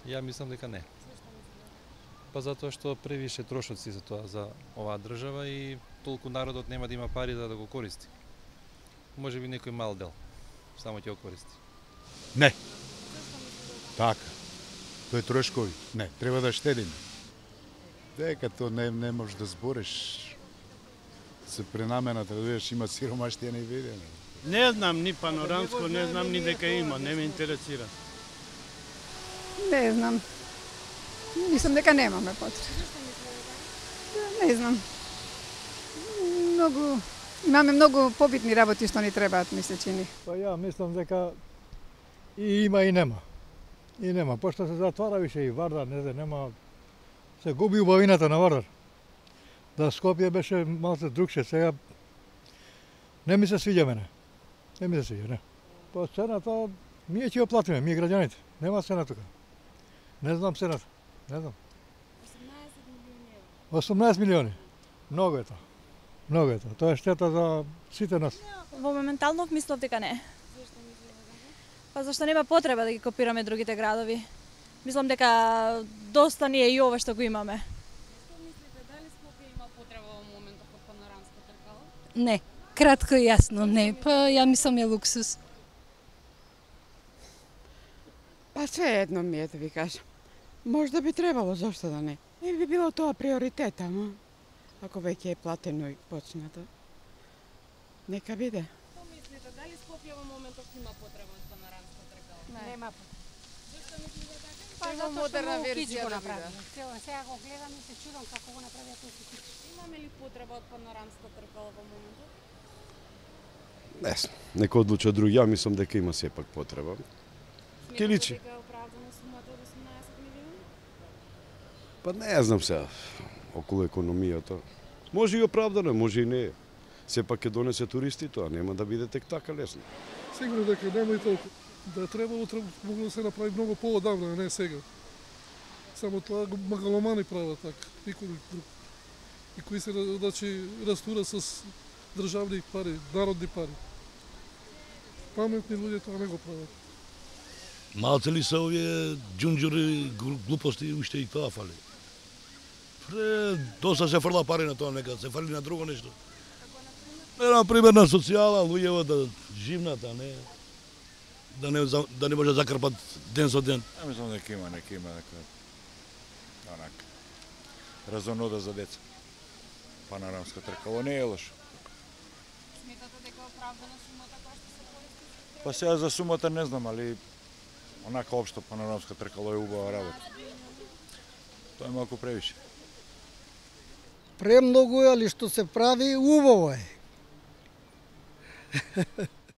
Ја мислам дека не. Па затоа што превише трошоци за тоа, за оваа држава и толку народот нема да има пари да го користи. Може би некој мал дел само ќе го користи. Не. Така. Тој трошкови. Не, треба да штедиме. Дека то не можеш да збориш. Се пренамената, да видиш, има сиромаштија невидено. Не знам ни панорамско, не знам ни дека има, не ме интересира. Не знам. Мислам дека немаме потреба. Не знам. Имаме многу побитни работи што ни требаат, ми се чини. Па ја мислам дека и има и нема. И нема, пошто се затвара више и Вардар, не знам, нема. Се губи убавината на Вардар. Да Скопје беше малце другше, сега не ми се свиѓа мене. Не ми се свиѓа, не. Па цената, ние ќе ја платиме, ние граѓаните. Нема цена тука. Не знам цената, не знам. 18 милиони. Многу е тоа. Многу е тоа. Тоа е штета за сите нас. Во моментално мислам дека не. Зошто мислите дека не? Па зашто нема потреба да ги копираме другите градови. Мислам дека доста ни е и ова што го имаме. Што мислите, дали Скопје има потреба во моментот од панорамско тркало? Не, кратко и јасно, не. Па ја мислам е луксус. Па се едно ми е да ви кажам. Можда би требало, зошто да не? Не би било тоа приоритет, ама ако веќе е платено и почнато. Нека биде. Што мислите, дали Скопје во моментот има потреба од панорамско тркало? Нема. Зошто мислите така? Па затоа што многу кич го направи. Сега го гледам и се чудам како го направија толку кич. Имаме ли потреба од панорамско тркало во моментот? Не знам, нека одлуча други, ја мислам дека има сепак потреба. Ке личи. Дека е оправдана сумата од 18 милиони? Па не знам сега, околу економијата. Може и оправдано, може и не. Сепак ќе донесе туристи тоа, нема да биде тек така лесно. Сигурно дека нема и толку. Да требало могло да се направи многу поодамна, а не сега. Само тоа го магаломани прават така, никој друг. И кои се значи растура с државни пари, народни пари. Паметни луѓе тоа не го прават. Малце ли се овие џунџури, глупости, уште и тоа фали. Доста се фрла пари на тоа, нека се фали на друго нешто. Например на социјала, луѓево да живнат, а не да не може да закрпат ден со ден. Ја мислам дека има нека онака разонода за деца. Панорамско тркало не е лошо. Сметате дека е оправдана сумата која што се користи? Па сега за сумата не знам, али онака општо панорамско тркало е убава работа. Тоа е малку превише. Премногу е, али што се прави, убаво е.